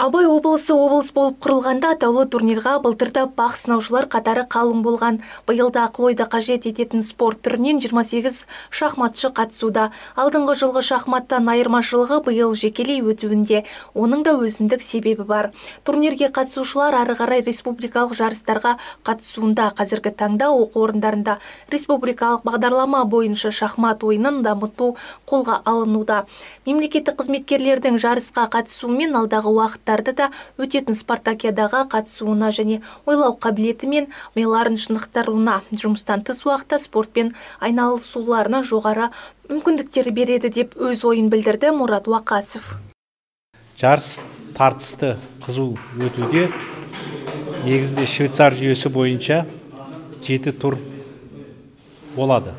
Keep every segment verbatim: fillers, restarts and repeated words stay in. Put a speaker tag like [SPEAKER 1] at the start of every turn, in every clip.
[SPEAKER 1] Абай облысы облыс болып құрылғанда атаулы турнирға былтырда бақ сынаушылар қатары қалың болған. Биылда ақыл ойды қажет ететін спорт түрінен жиырма сегіз шахматшы қатысуда. Алдыңғы жылғы шахматтан айырмашылығы биыл жекелей өтуінде. Оның да өзіндік себебі бар. Турнирге қатысушылар ары қарай республикалық жарыстарға қатысуында. Қазіргі таңда оқу орындарында республикалық бағдарлама бойынша шахмат ойынын дамыту қолға алынуда. Мемлекеттік қызметкерлердің жарысқа қатысуымен алдағы уақыттарды да өтетін спартакиадаға қатысуына және ойлау қабілеті мен миларын шынықтыруына, жұмыстан тыс уақытта спортпен айналысуларына жоғары мүмкіндіктер береді деп өз ойын білдірді Мұрат Уақасов.
[SPEAKER 2] Жарыс тартысты қызу өтуде. Негізінде Швейцар жүйесі бойынша жеті тур болады.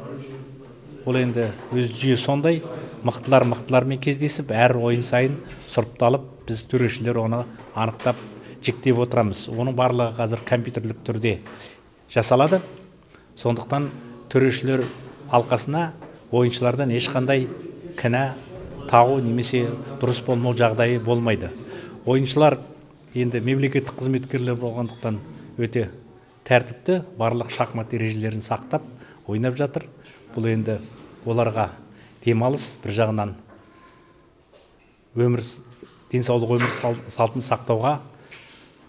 [SPEAKER 2] Ол енді өз жүйе сондай, мықтылар мықтылармен кездесіп, әр ойын сайын сұрыпталып, біз төрешілер оны анықтап жіктеп отырамыз. Оның барлығы қазір компьютерлік түрде жасалады. Сондықтан төрешілер алқасына ойыншылардан ешқандай кінә тағу немесе дұрыс болмау жағдайы болмайды. Ойыншылар енді мемлекеттік қызметкерлер болғандықтан өте тәртіпті, барлық шахмат ережелерін сақтап ойнап жатыр. Бұл енді оларға демалыс, бір жағынан өмір, денсаулық өмір салтын сақтауға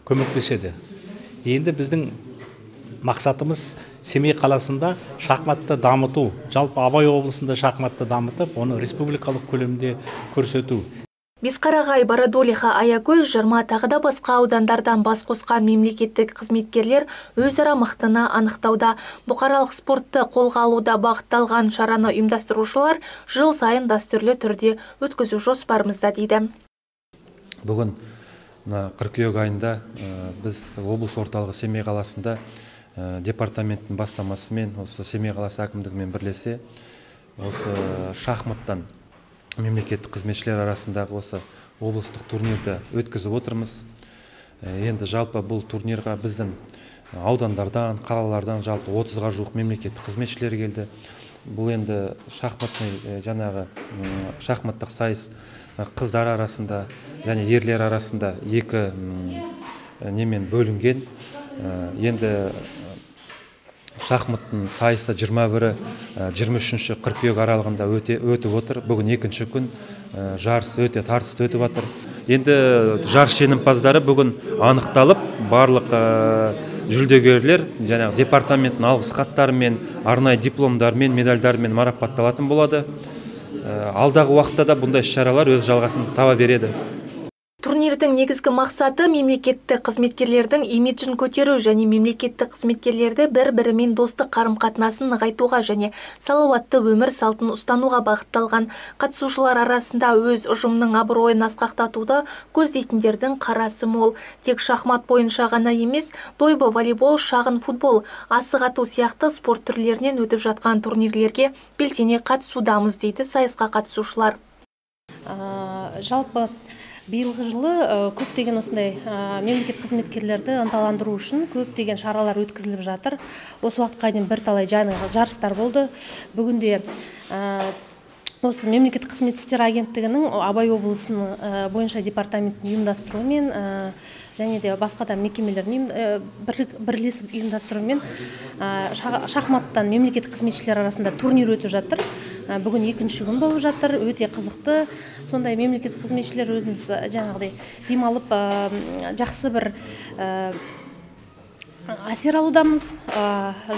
[SPEAKER 2] көмектеседі. Енді біздің мақсатымыз Семей қаласында шахматты дамыту, жалпы Абай облысында шахматты дамытып, оны республикалық көлемде көрсету.
[SPEAKER 1] Бесқарағай, Бородулиха, Аякөз, Жарма тағы да басқа аудандардан бас қосқан мемлекеттік қызметкерлер өзара мықтыны анықтауда. Бұқаралық спортты қолға алуда бағытталған шараны ұйымдастырушылар жыл сайын дәстүрлі түрде өткізу жоспарымызда дейді.
[SPEAKER 3] Бүгін қыркүйек айында біз облыс орталығы Семей қаласында департаменттің бастамасымен, осы Семей қаласы әкімдігімен бірлесе, осы шахматтан мемлекеттік қызметшілер арасындағы осы облыстық турнирді өткізіп отырмыз. Енді жалпы бұл турнирға біздің аудандардан, қалалардан жалпы отызға жуық мемлекеттік қызметшілер келді. Бұл енді шахматный жаңағы шахматтық сайыс қыздар арасында және ерлер арасында екі немен бөлінген. Енді шахматтың сайысы жиырма бірі жиырма үшінші қыркүйек аралығында өтіп отыр. Бүгін екінші күн жарыс өте тартысты өтіп жатыр. Енді жарыс жеңімпаздары бүгін анықталып, барлық жүлдегерлер жаңағы департаменттің алғыс хаттарымен, арнайы дипломдармен, медальдармен марапатталатын болады. Алдағы уақытта да бұндай іс-шаралар өз жалғасын таба береді.
[SPEAKER 1] Турнирдің негізгі мақсаты мемлекеттік қызметкерлердің имиджін көтеру және мемлекеттік қызметкерлерді бір-бірімен достық қарым-қатынасын нығайтуға және салауатты өмір салтын ұстануға бағытталған. Қатысушылар арасында өз ұжымның абыройын асқақтатуды көздейтіндердің қарасы мол. Тек шахмат бойынша ғана емес, дойбы, волейбол, шағын футбол, асық ату сияқты спорт түрлерінен өтіп жатқан турнирлерге белсене қатысудамыз дейді сайысқа қатысушылар.
[SPEAKER 4] Жалпы биылғы жылы көптеген осындай мемлекет қызметкерлерді ынталандыру үшін көптеген шаралар өткізіліп жатыр. Осы уақытқа дейін бірталай жарыстар болды. Бүгінде осы мемлекет қызмет істері агенттігінің Абай облысының бойынша департаменттің ұйымдастыруымен және де басқа да мекемелердің бірлесіп ұйымдастыруымен шахматтан мемлекет қызметшілер арасында турнир өтіп жатыр. Бүгін екінші күн болып жатыр, өте қызықты. Сондай мемлекет қызметшілер өзіміз жаңағыдай демалып жақсы бір әсер алудамыз.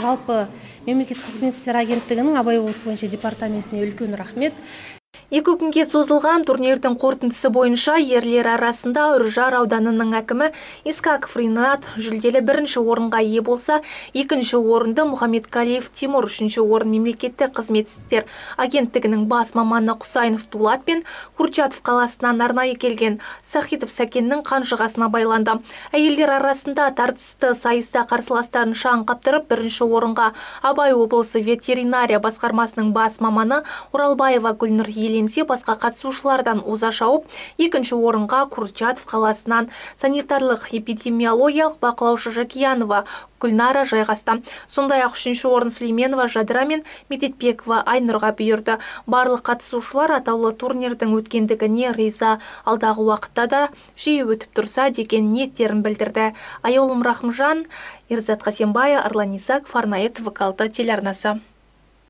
[SPEAKER 4] Жалпы мемлекет қызмет істері агенттігінің Абай облысы бойынша департаментіне үлкен рахмет.
[SPEAKER 1] Екі күнге созылған турнирдің қорытындысы бойынша ерлер арасында Үржар ауданының әкімі Искаков Ринат жүлделі бірінші орынға ие болса, екінші орынды Мұхаммедкалиев Тимур, үшінші орын мемлекеттік қызмет істер агенттігінің бас маманы Құсайынов Дулат пен Курчатов қаласынан арнайы келген Сахитов Сәкеннің қанжығасына байланды. Әйелдер арасында тартысты сайыста қарсыластарын шаң қаптырып, бірінші орынға Абай облысы ветеринария басқармасының бас маманы Оралбаева Гүлнұр иеленді. еңсе басқа қатысушылардан оза шауып, екінші орынға Курчатов қаласынан санитарлық эпидемиологиялық бақылаушы Жакиянова Гүлнара жайғасты. Сондай-ақ үшінші орын Сүлейменова Жадыра мен Медетбекова Айнұрға бұйырды. Барлық қатысушылар атаулы турнирдің өткендігіне риза, алдағы уақытта да жиі өтіп тұрса деген ниеттерін білдірді. Айолым Рахымжан, Ерзат Қасембай, Арлан Исаков, арнайы Т В К алты телеарнасы.